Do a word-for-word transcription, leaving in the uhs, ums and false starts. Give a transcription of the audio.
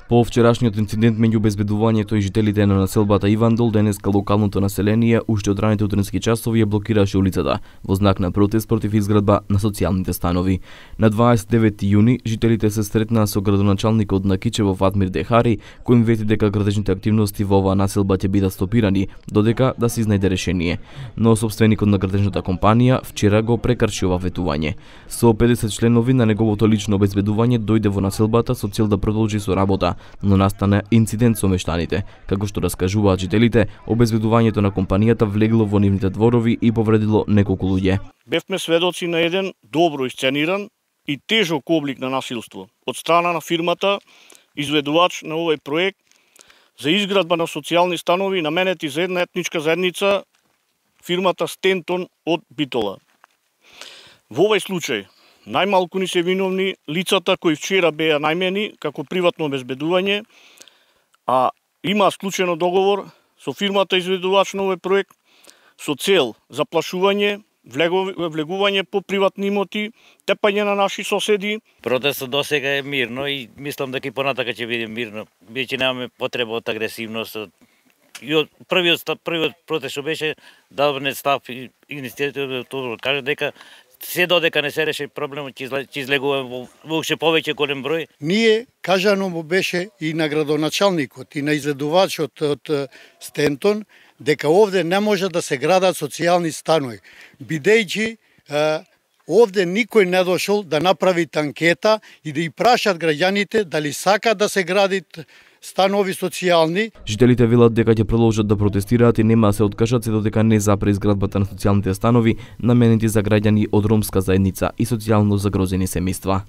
По вчерашниот инцидент меѓу обезбедувањето и жителите на населбата Ивандол, денеска локалното население уште од раните утрински часови ја блокираше улицата во знак на протест против изградба на социјалните станови. На дваесет и девети јуни жителите се сретнаа со градоначалникот на Кичево Фатмир Дехари, кој им вети дека градежните активности во оваа населба ќе бидат стопирани додека да се изнајде решение. Но собственикот на градежната компанија вчера го прекрши ова ветување. Со педесет членови на неговото лично обезбедување дојде во населбата со цел да продолжи со работа, но настана инцидент со мештаните. Како што раскажуваат жителите, обезбедувањето на компанијата влегло во нивните дворови и повредило неколку луѓе. Бевме сведоци на еден добро исцениран и тежок облик на насилство од страна на фирмата изведувач на овој проект за изградба на социјални станови наменети за една етничка заедница, фирмата Стентон од Битола. Во овој случај најмалку ни се виновни лицата кои вчера беа најмени како приватно обезбедување, а има склучено договор со фирмата изведувач на овој проект со цел заплашување, влегување по приватни имоти, тепање на наши соседи. Протестот досега е мирно и мислам дека и понатака ќе биде мирно, бидејќи немаме потреба од агресивност. И од првиот првиот протест што беше давне став и иницијативата каже дека се додека не се реши проблемот ќе излегува во уште повеќе голем број. Ние кажано му беше и на градоначалникот и на изведувачот од Стентон дека овде не може да се градат социјални станови, бидејќи овде никој не дошол да направи анкета и да и прашат граѓаните дали сакаат да се градат станови социјални. Жителите велат дека ќе продолжат да протестираат и нема да се откажат се додека не запре изградбата на социјалните станови наменети за граѓани од ромска заедница и социјално загрозени семејства.